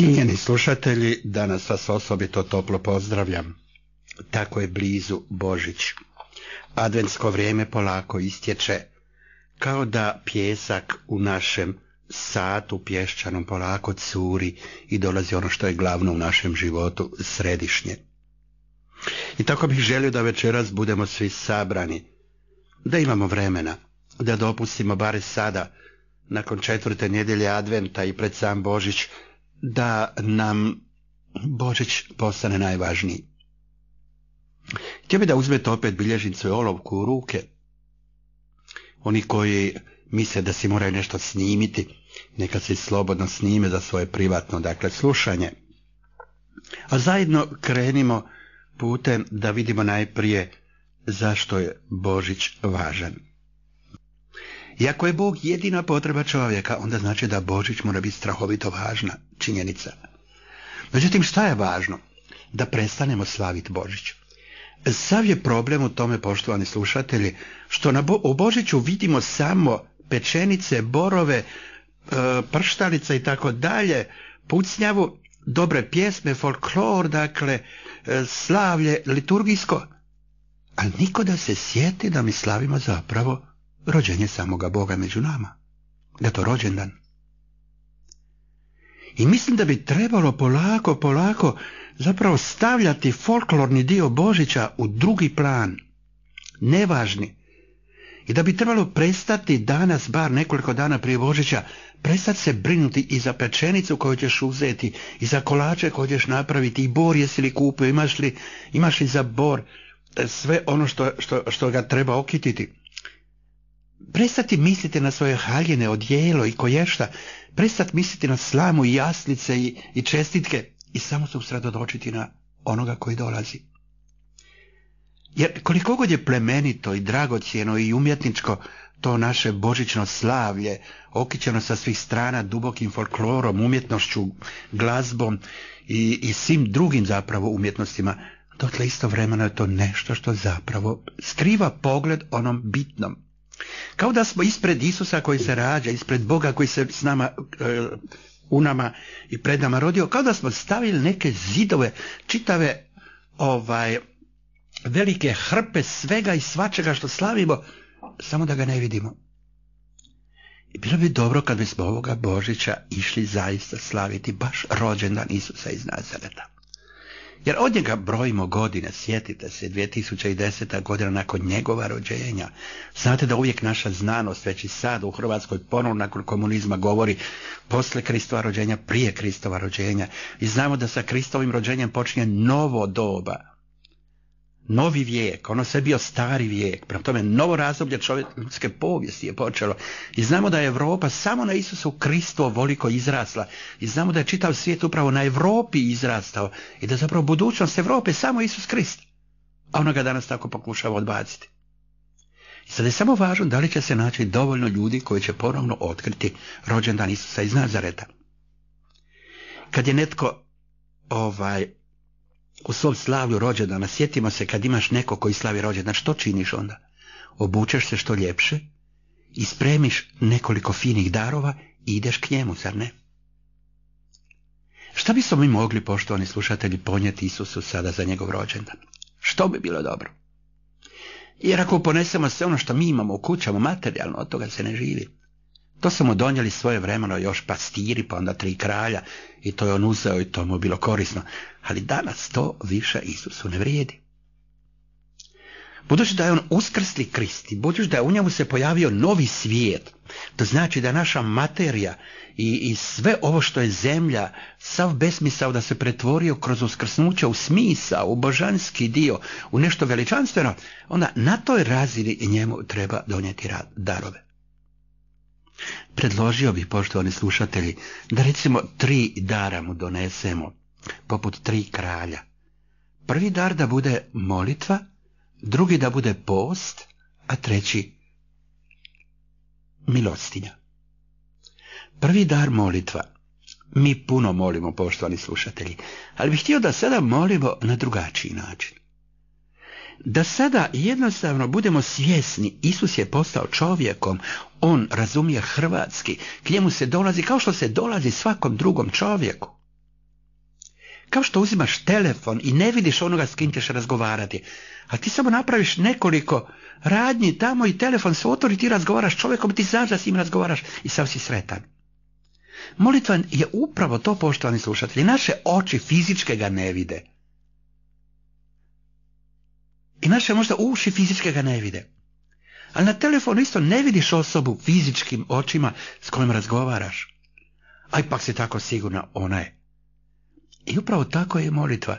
Cijenjeni slušatelji, danas vas osobito toplo pozdravljam. Tako je blizu Božić. Adventsko vrijeme polako istječe, kao da pijesak u našem satu pješčanom polako curi i dolazi ono što je glavno u našem životu, središnje. I tako bih želio da večeras budemo svi sabrani, da imamo vremena, da dopustimo bare sada, nakon 4. nedjelje Adventa i pred sam Božić, da nam Božić postane najvažniji. Htio bi da uzmete opet bilježnicu i olovku u ruke. Oni koji misle da si moraju nešto snimiti, neka se slobodno snime za svoje privatno, slušanje. A zajedno krenimo putem da vidimo najprije zašto je Božić važan. I ako je Bog jedina potreba čovjeka, onda znači da Božić mora biti strahovito važna činjenica. Međutim, šta je važno? Da prestanemo slaviti Božić. Sav je problem u tome, poštovani slušatelji, što u Božiću vidimo samo pečenice, borove, prštalice i tako dalje, pucnjavu, dobre pjesme, folklor, slavlje liturgijsko. Ali niko da se sjeti da mi slavimo zapravo rođenje samoga Boga među nama, da je to rođendan. I mislim da bi trebalo polako zapravo stavljati folklorni dio Božića u drugi plan, nevažni. I da bi trebalo prestati danas, bar nekoliko dana prije Božića, prestati se brinuti i za pečenicu koju ćeš uzeti, i za kolače koje ćeš napraviti, i bor jesi li kupio, imaš li za bor sve ono što ga treba okititi. Prestati misliti na svoje haljine, odijelo i koješta, prestati misliti na slamu i jaslice i čestitke i samo se usredotočiti na onoga koji dolazi. Jer koliko god je plemenito i dragocjeno i umjetničko to naše božićno slavlje, okićeno sa svih strana dubokim folklorom, umjetnošću, glazbom i svim drugim zapravo umjetnostima, dotle istovremeno je to nešto što zapravo skriva pogled onom bitnom. Kao da smo ispred Isusa koji se rađa, ispred Boga koji se s nama, u nama i pred nama rodio, kao da smo stavili neke zidove, čitave velike hrpe svega i svačega što slavimo, samo da ga ne vidimo. I bilo bi dobro kad bismo ovoga Božića išli zaista slaviti baš rođendan Isusa iz Nazareta. Jer od njega brojimo godine, sjetite se, 2010. godina nakon njegova rođenja. Znate da uvijek naša znanost, već i sad u Hrvatskoj ponovno nakon komunizma govori posle Kristova rođenja, prije Kristova rođenja. I znamo da sa Kristovim rođenjem počinje novo doba. Novi vijek, ono sve bio stari vijek, prema tome novo razdoblje ljudske povijesti je počelo. I znamo da je Europa samo na Isusu Kristu ovoliko izrasla. I znamo da je čitav svijet upravo na Europi izrastao i da zapravo budućnost Europe samo Isus Krist. A ona ga danas tako pokušava odbaciti. I sad je samo važno da li će se naći dovoljno ljudi koji će ponovno otkriti rođendan Isusa iz Nazareta. Kad je netko u svom slavlju rođendana, sjetimo se kad imaš neko koji slavi rođendan, što činiš onda? Obučeš se što ljepše i spremiš nekoliko finih darova i ideš k njemu, zar ne? Šta bismo mi mogli, poštovani slušatelji, ponijeti Isusu sada za njegov rođendan? Što bi bilo dobro? Jer ako ponesemo sve ono što mi imamo u kućama materijalno, od toga se ne živi. To su mu donijeli svoje vremeno još pastiri, pa onda 3 kralja, i to je on uzeo i to mu bilo korisno. Ali danas to više Isusu ne vrijedi. Budući da je on uskrsli Krist i budući da je u njemu se pojavio novi svijet, to znači da naša materija i sve ovo što je zemlja, sav besmisao da se pretvorio kroz uskrsnuće u smisao, u božanski dio, u nešto veličanstveno, onda na toj razini njemu treba donijeti darove. Predložio bih, poštovani slušatelji, da recimo 3 dara mu donesemo, poput 3 kralja. Prvi dar da bude molitva, drugi da bude post, a treći milostinja. Prvi dar molitva. Mi puno molimo, poštovani slušatelji, ali bih htio da sada molimo na drugačiji način. Da sada jednostavno budemo svjesni, Isus je postao čovjekom, on razumije hrvatski, k njemu se dolazi kao što se dolazi svakom drugom čovjeku. Kao što uzimaš telefon i ne vidiš onoga s kim ćeš razgovarati, a ti samo napraviš nekoliko radnji tamo i telefon se otvori, ti razgovaraš s čovjekom, ti znaš da s njim razgovaraš i sav si sretan. Molitva je upravo to, poštovani slušatelji. Naše oči fizičke ga ne vide. I naše možda uši fizičke ga ne vide. Ali na telefonu isto ne vidiš osobu fizičkim očima s kojim razgovaraš. A ipak si tako sigurna, ona je. I upravo tako je molitva.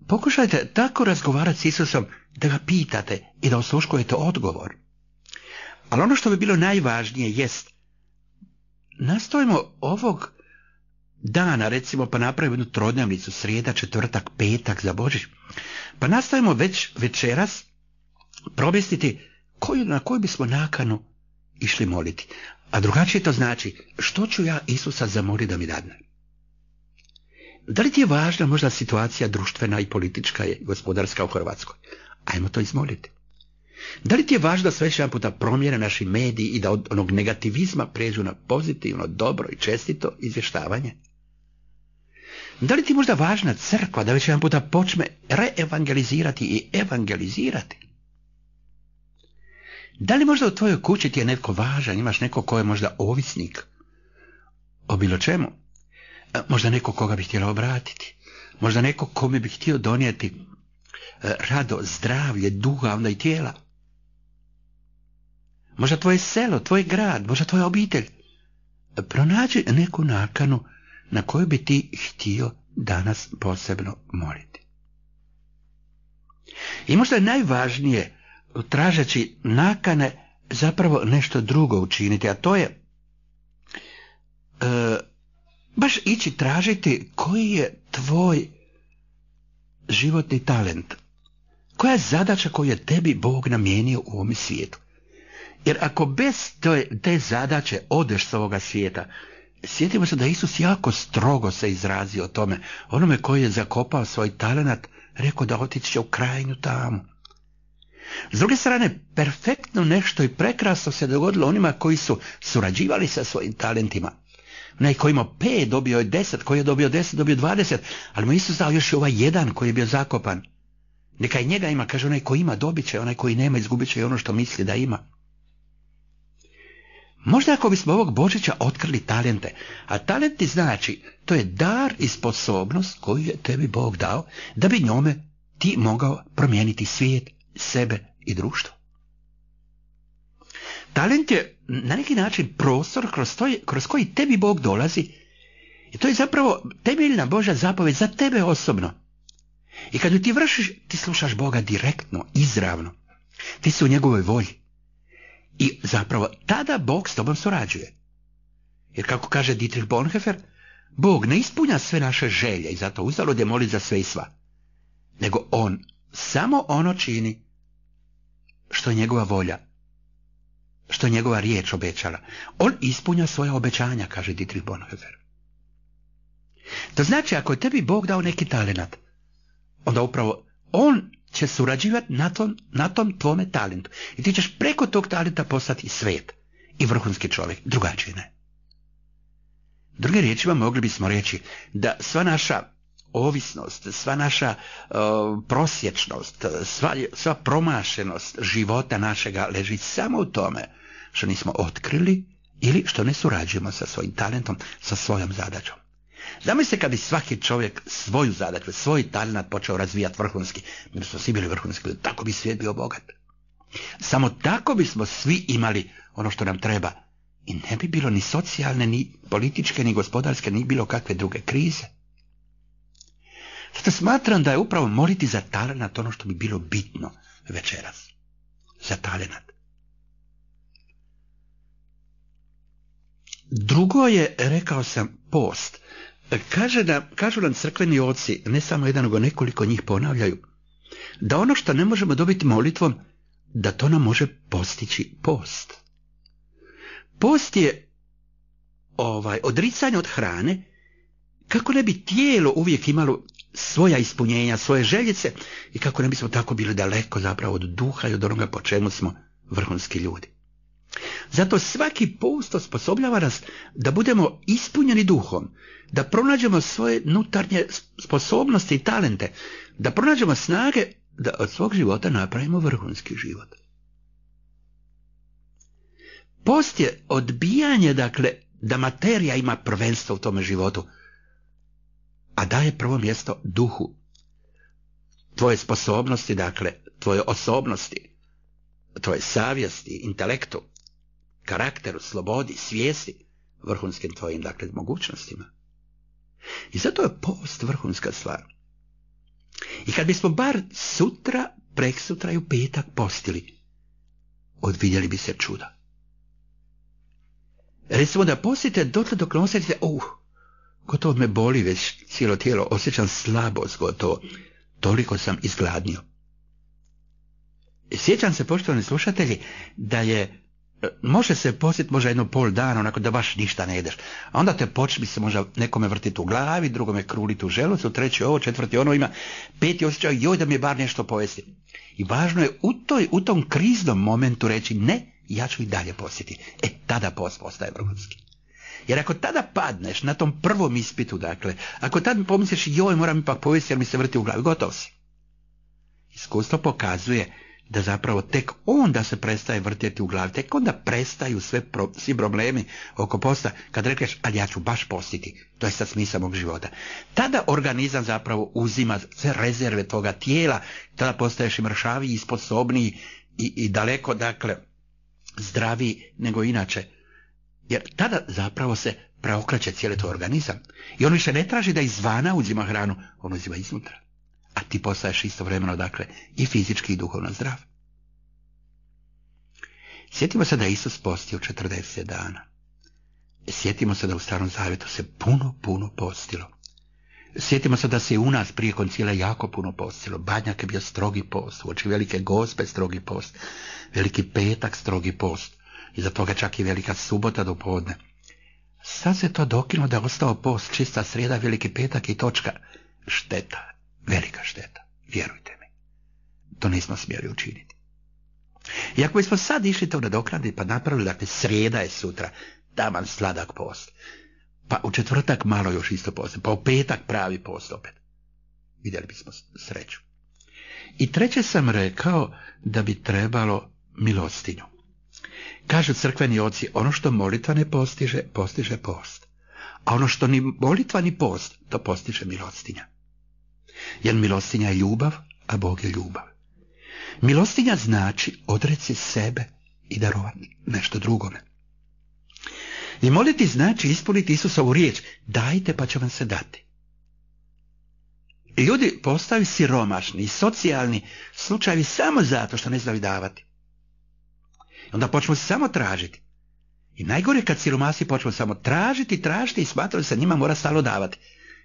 Pokušajte tako razgovarati s Isusom da ga pitate i da osluškujete odgovor. Ali ono što bi bilo najvažnije jest, nastojimo ovog dana, recimo, pa napravimo jednu trodnevnicu, srijeda, četvrtak, petak za Božić, pa nastojimo već večeras probestiti na koju bismo nakanu išli moliti. A drugačije to znači, što ću ja Isusa zamoliti da mi dadne? Da li ti je važna možda situacija društvena i politička i gospodarska u Hrvatskoj? Ajmo to izmoliti. Da li ti je važno da sve jedan puta promijene naši mediji i da od onog negativizma pređu na pozitivno, dobro i čestito izvještavanje? Da li ti je možda važna crkva da već jedan puta počne reevangelizirati i evangelizirati? Da li možda u tvojoj kući ti je netko važan, imaš neko ko je možda ovisnik o bilo čemu? Možda neko koga bi htjela obratiti, možda neko kome bi htio donijeti rado, zdravlje, duha, onda i tijela. Možda tvoje selo, tvoj grad, možda tvoja obitelj. Pronađi neku nakanu na koju bi ti htio danas posebno moliti. I možda je najvažnije, tražeći nakane, zapravo nešto drugo učiniti, a to je baš ići tražiti koji je tvoj životni talent. Koja je zadaća koju je tebi Bog namijenio u ovom svijetu? Jer ako bez te zadaće odeš s ovoga svijeta, sjetimo se da Isus jako strogo se izrazio o tome. Onome koji je zakopao svoj talent, rekao da otići će u krajnju tamu. S druge strane, perfektno nešto i prekrasno se dogodilo onima koji su surađivali sa svojim talentima. Onaj koji ima 5 dobio je 10, koji je dobio 10 dobio 20, ali mu Isus dao još i ovaj jedan koji je bio zakopan. Neka i njega ima, kaže, onaj koji ima dobit će, onaj koji nema izgubit će i ono što misli da ima. Možda ako bismo ovog Božića otkrili talente, a talenti znači, to je dar i sposobnost koju je tebi Bog dao, da bi njome ti mogao promijeniti svijet, sebe i društvo. Talent je na neki način prostor kroz koji tebi Bog dolazi i to je zapravo temeljna Božja zapovjed za tebe osobno. I kad ju ti vršiš, ti slušaš Boga direktno, izravno. Ti si u njegovoj volji. I zapravo tada Bog s tobom surađuje. Jer kako kaže Dietrich Bonhoeffer, Bog ne ispunja sve naše želje i zato uzalud je moliti za sve i sva. Nego on samo ono čini što je njegova volja, što je njegova riječ obećala. On ispunja svoja obećanja, kaže Dietrich Bonhoeffer. To znači, ako je tebi Bog dao neki talent, onda upravo on će surađivati na tom tvome talentu. I ti ćeš preko tog talenta postati svet i vrhunski čovjek, drugačije ne. Drugim riječima mogli bismo reći da sva naša ovisnost, sva naša prosječnost, sva promašenost života našega leži samo u tome što nismo otkrili ili što ne surađujemo sa svojim talentom, sa svojom zadaćom. Zamislite kad bi svaki čovjek svoju zadaću, svoj talent počeo razvijati vrhunski, mi bismo svi bili vrhunski, tako bi svijet bio bogat. Samo tako bismo svi imali ono što nam treba i ne bi bilo ni socijalne, ni političke, ni gospodarske, ni bilo kakve druge krize. Zato smatram da je upravo moliti za talent ono što bi bilo bitno večeras. Za talent. Drugo je, rekao sam, post. Kažu nam crkveni oci, ne samo jedan, nego nekoliko njih ponavljaju, da ono što ne možemo dobiti molitvom, da to nam može postići post. Post je odricanje od hrane, kako ne bi tijelo uvijek imalo svoja ispunjenja, svoje željice i kako ne bismo tako bili daleko zapravo od duha i od onoga po čemu smo vrhunski ljudi. Zato svaki post osposobljava nas da budemo ispunjeni duhom, da pronađemo svoje unutarnje sposobnosti i talente, da pronađemo snage da od svog života napravimo vrhunski život. Post je odbijanje, dakle, da materija ima prvenstvo u tome životu, a daje prvo mjesto duhu. Tvoje sposobnosti, dakle, tvoje osobnosti, tvoje savjesti, intelektu, karakteru, slobodi, svijesti, vrhunskim tvojim, dakle, mogućnostima. I zato je post vrhunska stvar. I kad bismo bar sutra, preksutra i u petak postili, odvidjeli bi se čuda. Recimo da postite dotle dok ne osjetite, gotovo me boli već cijelo tijelo, osjećam slabost gotovo, toliko sam izgladnio. Sjećam se, poštovani slušatelji, da može se postiti možda jedno pol dana, onako da baš ništa ne jedeš. A onda te počne se možda nekome vrtiti u glavi, drugome kruliti u želucu, treći ovo, četvrti ono, ima peti osjećaj, joj da mi je bar nešto pojesti. I važno je u tom kriznom momentu reći ne, ja ću i dalje postiti. Tada post postaje vrhunski. Jer ako tada padneš na tom prvom ispitu, dakle, ako tad pomisliš joj moram ipak pojesti jer mi se vrti u glavi, gotov si. Iskustvo pokazuje da zapravo tek onda se prestaje vrtjeti u glavi, tek onda prestaju svi problemi oko posta, kad rekneš, ali ja ću baš postiti, to je sad smisao mog života. Tada organizam zapravo uzima sve rezerve toga tijela, tada postaješ i mršaviji, i sposobniji i daleko, dakle, zdraviji nego inače. Jer tada zapravo se preokreće cijeli tvoj organizam. I on više ne traži da izvana uzima hranu, on uzima iznutra. A ti postaješ istovremeno, dakle, i fizički i duhovno zdrav. Sjetimo se da je Isus postio 40 dana. Sjetimo se da u Starom Zavjetu se puno postilo. Sjetimo se da se i u nas prije koncila jako puno postilo. Badnjak je bio strogi post, uoči Velike Gospe strogi post, Veliki petak strogi post, iza toga čak i Velika subota do podne. Sad se to dokinulo da je ostao post, čista srijeda, Veliki petak i točka. Šteta, velika šteta, vjerujte mi. To nismo smjeli učiniti. I ako bismo sad išli to nadoknaditi pa napravili, dakle, srijeda je sutra, taman sladak post, pa u četvrtak malo još isto post, pa u petak pravi post opet, vidjeli bismo sreću. I treće sam rekao da bi trebalo milostinju. Kažu crkveni oci, ono što molitva ne postiže, postiže post. A ono što ni molitva ni post, to postiže milostinja. Jer milostinja je ljubav, a Bog je ljubav. Milostinja znači odreci sebe i darovati nešto drugome. I moliti znači ispuniti Isusovu riječ, dajte pa će vam se dati. Ljudi postaju siromašni i socijalni slučajevi samo zato što ne znaju davati. Onda počnu se samo tražiti. I najgore kad siromasi počnu samo tražiti i smatraju se njima mora stalno davati.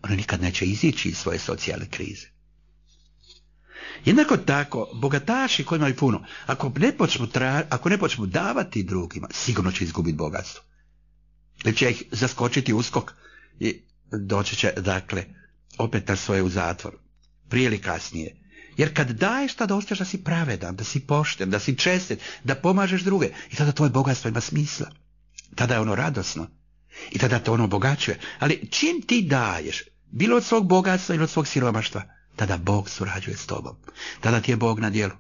Oni nikad neće izići iz svoje socijalne krize. Jednako tako, bogataši koji imaju puno, ako ne počnu davati drugima, sigurno će izgubiti bogatstvo. Ili će ih zaskočiti uskok i doći će, dakle, opet na svoje u zatvor. Prije ili kasnije. Jer kad daješ, tada osjećaš da si pravedan, da si pošten, da si čestit, da pomažeš druge. I tada tvoje bogatstvo ima smisla. Tada je ono radosno. I tada te ono obogaćuje. Ali čim ti daješ, bilo od svog bogatstva ili od svog siromaštva, tada Bog surađuje s tobom. Tada ti je Bog na djelu.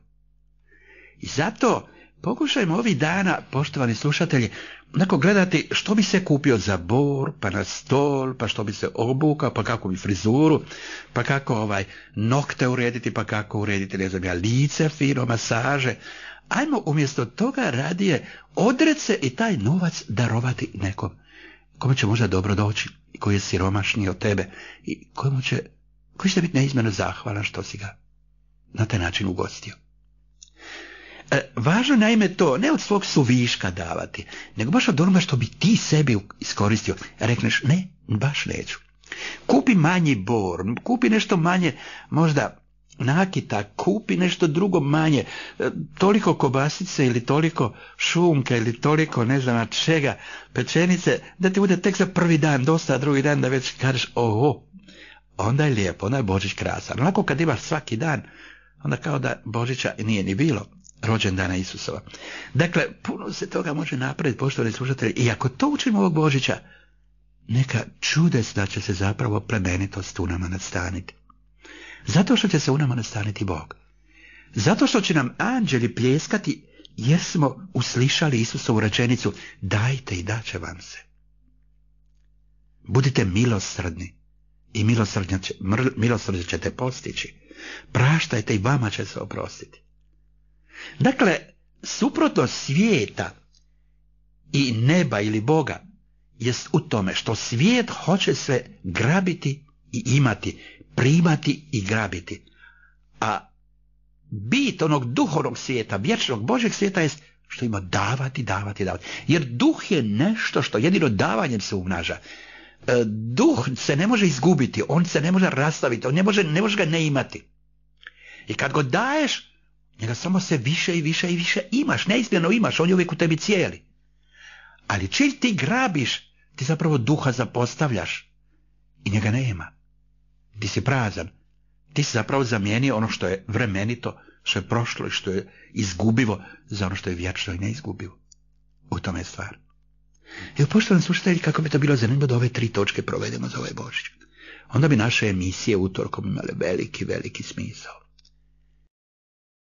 I zato pokušajmo ovih dana, poštovani slušatelji, onako gledati što bi se kupio za bor, pa na stol, pa što bi se obukao, pa kako bi frizuru, pa kako nokte urediti, pa kako urediti, ne znam ja, lice fino, masaže. Ajmo umjesto toga radije odreći se i taj novac darovati nekom, kome će možda dobro doći, i koji je siromašniji od tebe, i koji će biti neizmjerno zahvalan što si ga na taj način ugostio. Važno naime to, ne od svog suviška davati, nego baš od onoga što bi ti sebi iskoristio. Rekneš, ne, baš neću. Kupi manji bor, kupi nešto manje, možda nakita, kupi nešto drugo manje, toliko kobasice ili toliko šunke ili toliko ne znam čega, pečenice, da ti bude tek za prvi dan dosta, drugi dan da već kažeš, onda je lijepo, onda je Božić krasan. Onako kad imaš svaki dan, onda kao da Božića nije ni bilo. rođendana Isusova. Dakle, puno se toga može napraviti, poštovani slušatelji, i ako to učimo ovog Božića, neka čudesna će se zapravo plemenitost u nama nastaniti. Zato što će se u nama nastaniti Bog. Zato što će nam anđeli pljeskati jer smo uslišali Isusovu rečenicu dajte i daće vam se. Budite milosrdni i milosrđe ćete postići. Praštajte i vama će se oprostiti. Dakle, suprotno svijeta i neba ili Boga jest u tome što svijet hoće sve grabiti i imati, primati i grabiti. A bit onog duhovnog svijeta, vječnog Božjeg svijeta jest što ima davati. Jer duh je nešto što jedino davanjem se umnaža. Duh se ne može izgubiti, on se ne može rastaviti, on ne može ga ne imati. I kad go daješ, njega samo se više i više imaš, neizmjerno imaš, on je uvijek u tebi cijeli. Ali čim ti grabiš, ti zapravo duha zapostavljaš i njega nema. Ti si prazan, ti si zapravo zamijenio ono što je vremenito, što je prošlo i što je izgubivo za ono što je vječno i neizgubivo. U tome je stvar. I poštovani slušatelji, kako bi to bilo zanimljivo da ove 3 točke provedemo za ovaj Božić. Onda bi naše emisije utorkom imale veliki smisao.